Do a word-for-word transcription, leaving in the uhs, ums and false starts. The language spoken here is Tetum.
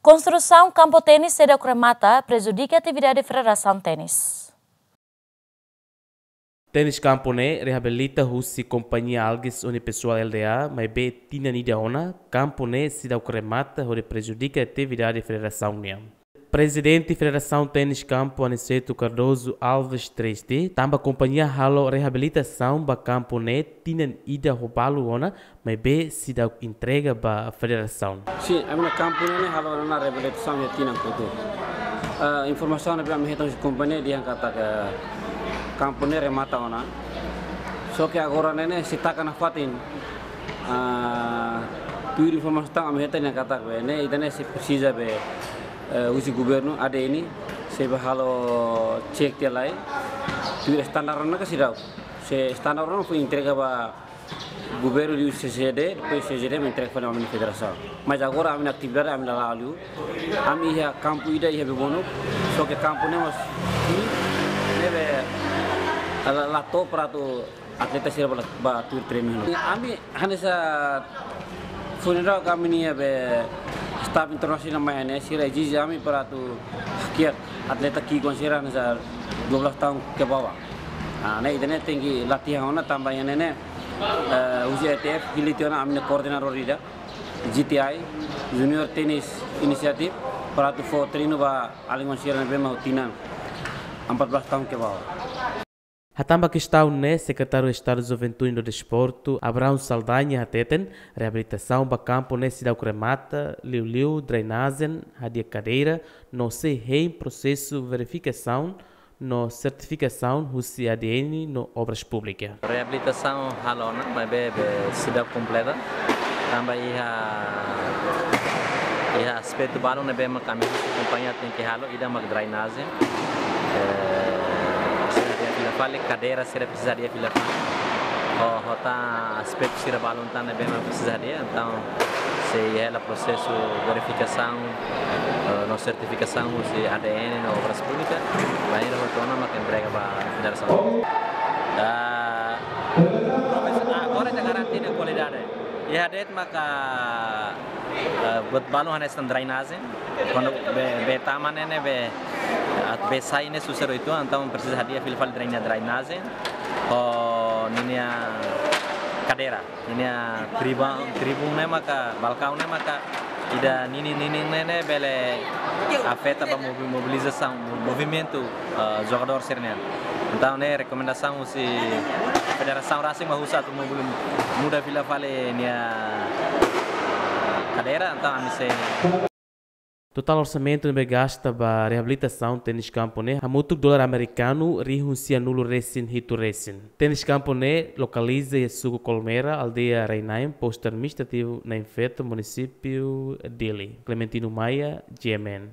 Konstrusaun kampu tenis seidauk remata prejudika atividade Federasaun Tenis. Tenis kampu ne'e reabilita husi kompañia Algis Unipessoal Lda, maibé tinan ida ona, kampu ne'e seidauk remata hodi prejudika atividade federasaun nian. Prezidente Federasaun Tenis Kampu Aniceto Cardoso Alves Triste, tanba kompañia halo reabilitasaun ba kampu ne'e tinan ida ho balu ona, maibé seidauk entrega ba federasaun. Sin, ami-nia kampu ne'e halo ona reabilitasaun iha tinan kotuk. Eh, informasaun ne'ebé ami hetan husi kompañia dehan katak kampu ne'e remata ona. Só ke agora ne'e ne'e sei taka nafatin. Ah, tuir informasaun ami hetan dehan katak be ne'e, ida-ne'e sei presiza be, eh, husi governu A D N sei bá halo cek tiha lai. Tuir standar ona ka seidauk. Se standar ona foin entrega ba governu liu C C D, depois C C D mai entrega fali ami-nia federasaun. Mas agora ami-nia atividade ami la la'o liu. Ami iha kampu ida iha Bebonuk, só ke kampu ne'e mós ne'ebé la, la to'o para atu atleta sira bá, bá tuir treinu. Ami hanesan funeral kami nia be staff internasionál mai ne'e sira ezije ami para atu hakiak atleta ki'ik sira hanesan dua belas tahun ke bawah. Ah, ne'e ida-ne'e tenke latihan ona tanba iha ne'e ne'e, eh, husi E T F hili tiha ona ami-nia koordenadór ida, G T I, Junior Tennis Initiative, para atu fó treinu ba alin sira ne'ebé mak ho tinan empat belas tahun ke bawah. Hatán ba kestaun ne'e, Sekretáriu Estadu Juventude no Desportu, Abraão Saldanha, hateten, reabilitasaun ba kampu ne'e seidauk remata, liuliu drenajen, hadi'a kadeira, no sei hein prosesu verifikasaun no sertifikasaun husi A D N no Obras Públikas. Reabilitasaun halo ona, maibé be seidauk kompleta. Tanba iha, iha aspetu balun ne'ebé mak ami husi kompañia tenke halo, ida mak drenajen. Eh, presiza hadi'a fila fali, kadeira sira presiza hadi'a fila fali. Ho, ho tan aspetu sira balun tan ne'ebé mak presiza hadi'a, entaun sei hela prosesu verifikasaun, eh, no sertifikasaun husi A D N no Obras Públikas, bainhira hotu ona mak entrega ba federasaun. Ah, profes-, ah, agora ita garante nia kualidade. Iha de'it maka, eh, buat balun hanesan drenajen. Kuandu bee, bee tama ne'e ne'e bee, ah, bee sai ne'e susar uitoan, entaun presiza hadi'a fila fali dreina-, drenajen. Ho ninia kadeira. Ninia tribun, tribun ne'e maka, balkaun ne'e maka, ida ninin-ninin ne'e ne'e bele afeta ba mobi-, mobilizasaun, mo-, movimentu, eh, jogadór sira-nian. Entaun ne'e rekomendasaun husi federasaun rasik mak husu atu mobili-, muda fila fali nia kadeira, entaun ami sei Totál orsamentu ne'ebé gasta ba reabilitasaun tenis kampu ne'e hamutuk dolar amerikanu rihun sianulu resin hitu resin. Tenis kampu ne'e lokaliza iha suku Colmera, aldeia Rainain, postu administrativu Nain Feto, munisípiu Dili. Clementino Maia, G M N.